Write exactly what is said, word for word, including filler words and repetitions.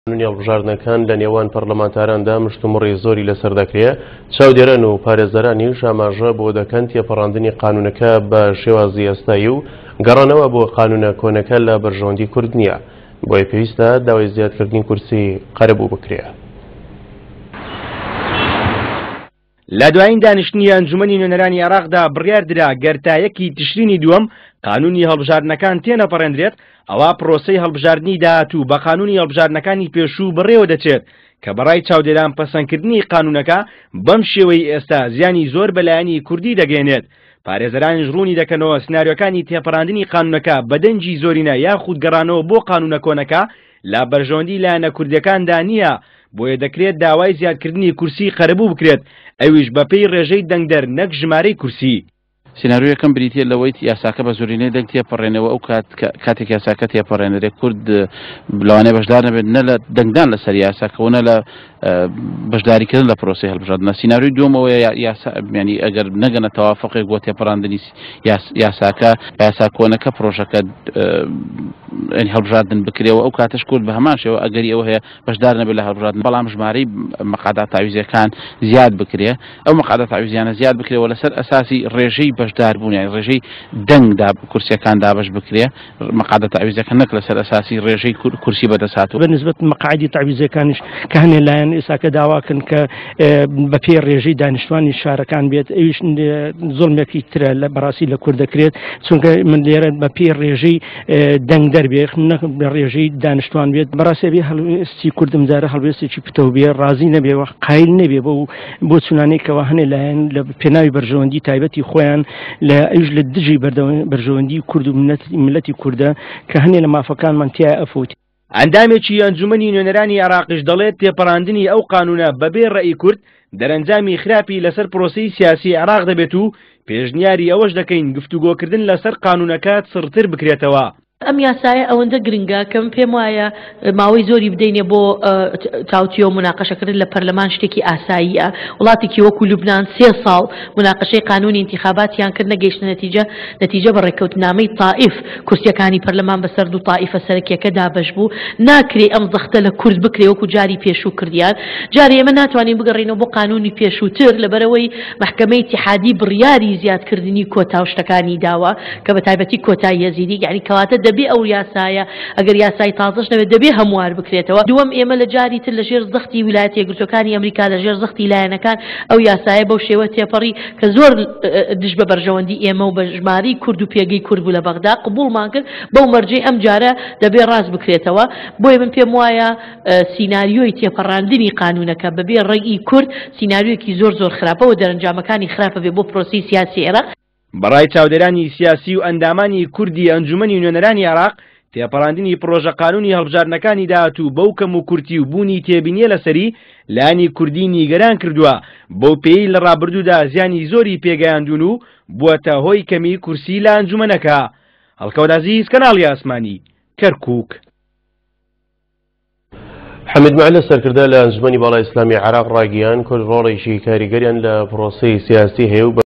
قانونی هەڵبژاردنەکان لە نێوان پەرلەمانتاراندا مشتومڕی زۆری لەسەر دەکرێت. چاودێران و پارێزەرانیش ئاماژە بۆ دەکەن تێپەڕاندنی قانونەکە بە شێوازی ئێستایی و گەڕانەوە بۆ قانونە کۆنەکە لە بەرژەوەندی کورد نییە، بۆیە پێویستە داوای زیادکردنی کورسی قەرەبوو بکرێت. لە دوایین دانیشتنی ئەنجومەنی نوێنەرانی عێراقدا بڕیار درا گەر تا یەکی تشرینی دووەم قانونی هەڵبژاردنەکان تێنەپەڕێندرێت، ئەوە پرۆسەی هەڵبژاردنی داهاتوو بە قانونی هەڵبژاردنەکانی پێشوو بڕێوە دەچێت کە بەڕای چاودێران پەسەندکردنی قانونەکە بەم شێوەی ئێستا زیانی زۆر بەلایەنی کوردی دەگەێنێت. پارێزەرانیش ڕوونی دەکەنەوە سناریۆکانی تێپەڕاندنی قانونەکە بە دەنگی زۆرینە یاخود گەڕانەوە بۆ قانونە کۆنەکە لە بەرژەوەندی لایەنە کوردیەکاندا نییە، بۆیە دەکرێت داوای زیادکردنی کورسی قەرەبوو بکرێت، ئەویش بەپێی ڕێژەی دەنگدەر نەک ژمارەی کورسی. سیناریۆ یەکەم بریتیە لەوەی یاساکە بە زۆرینەی دەنگ تێپەڕێنەوە، ئەو کات کاتێک یاساکە تێپەڕێنرێت کورد لەوانەیە بەشدار نەبێت نە لە دەنگدان لەسەر یاساکە و نە لە بەشداریکردن لە پرۆسەی هەڵبژاردنە. سیناریۆی دووەمەوەیە یاسا یعنی ئەگەر نەگەنە تەوافقێک بۆ تێپەڕاندنی یاساکە، یاسا کۆنەکە پرۆژەکە هەڵبژاردن بکرێەوە، ئەو کاتەش کورد بە هەمان شێوە ئەگەری ئەوە هەیە بەشدار نەبێت لە هەڵبژاردن، بەڵام ژمارەی مەقعدە تاویزیەکان زیاد بکرێ، ئەو مەقعدە تاویزیانە زیاد بکرێەوە لەسەر ئەساسی ڕێژەی بەشداربوون، یانی ڕێژەی دەنگدا کورسیەکان دابەش بکرێ، مەقعدە تاویزیەکە نەک لەسەر ئەساسی ڕێژەی کورسی بەدەست هاتوو. بە نسبەت مەقعدی تاویزیەکانیش کە هەنێ لایەن ئێساکە داواکەن کە بەپێی ڕێژەی دانیشتوانی شارەکان بێت، ئەویش زوڵمێکی ترە لە بەڕاستی لە کورد دەکرێت، چونکە من لێرە بەپێی ڕێژەی دەنگدەر بێ نەک بە ڕێژەی دانیشتوان بێت. بەڕاستی بێ هەڵوێستی کوردم جارە هەڵوێستێکی پتەو بێ، ڕازی نەبێ و قایل نەبێ بۆ بۆ چونانێکەوە هەنێ لایەن لە پێناوی بەرژەوەندی تایبەتی خۆیان لە ئەویش لە دژی بەرژەوەندی کورد و ملەتی کوردە کە هەنێ لە مافەکانمان تیا ئەفوت. ئەندامێکی ئەنجومەنی نوێنەرانی عێراقیش دەڵێت تێپەڕاندنی ئەو قانونە بەبێ ڕەئی کورد دەرەنجامی خراپی لەسەر پرۆسەی سیاسی عێراق دەبێت و پێشنیاری ئەوەش دەکەین گفتوگۆکردن لەسەر قانونەکە چڕتر بکرێتەوە. ئەم یاسایە ئەوەندە گرنگە کە من پێم وایە ماوەی زۆری بدەینێ بۆ تاوتیۆ مناقەشەکردن لە پەرلەمان شتێکی ئاساییە. وڵاتێکی وەکو لوبناان سێ ساڵ مناقەشەی قانونی انتخاباتیان کرد نەگەیشتە نەتیجە، نەتیجە بە ڕێککەوتنامەی تائیف کورسیەکانی پەرلەمان بەسەر دوو تائیفە سەرەکیەکە دابەش بوو. ناکرێ ئەم زەختە لە کورد بکرێ وەکو جاری پێشوو کردیان. جارێ ئێمە ناتوانین بگەڕێینەوە بۆ قانونی پێشووتر لەبەرەوەی محکمەی ئیتیحادی بڕیاری زیادکردنی کۆتا و شتەکانی داوە کە بە تایبەتی کۆتای یەزیدی، یعنی کەواتە دەبێ ئەو یاسایە ئەگەر یاسای تازەش نەبێت دەبێ هەموار بکرێتەوە. دووەم ئێمە لە جاری تر لەژێر زەختی ویلایەتە یەکگرتووەکانی ئەمریکا لەژێر زەختی لایەنەکان ئەو یاسایە بەو شێوە تێپەڕی کە زۆر دژ بە بەرژەوەندی ئێمە و بە ژمارەی کورد و پێگەی کورد بوو لە بەغدا قبوڵمان کرد، بەو مەرجەی ئەم جارە دەبێ ڕاست بکرێتەوە. بۆیە من پێم وایە سیناریۆی تێپەڕاندنی قانونەکە بەبێ ڕەئی کورد سیناریۆیەکی زۆر زۆر خراپە و دەرەنجامەکانی خراپە بێ بۆ پرۆسەی سیاسی عێراق. بەڕای چاودێرانی سیاسی و ئەندامانی کوردی ئەنجومەنی نوێنەرانی عێراق تێپەڕاندنی پرۆژە قانونی هەڵبژاردنەکانی داهاتوو بەو کەم و کورتی و بوونی تێبینیە لەسەری لایەنی کوردی نیگەران کردووە، بەو پێی لە ڕابردوودا زیانی زۆری پێگەیاندون و بووەتە هۆی کەمی کورسی لە ئەنجومەنەکە. هەڵکەوت عەزیز، کەناڵی ئاسمانی، کەرکووک. حەمید مەعلە سەرکردە لە ئەنجومەنی باڵای ئیسلامی عێراق ڕاگەیاند کورد ڕۆڵێکی کاریگەریان لە پرۆسەی سیاسی هەیە و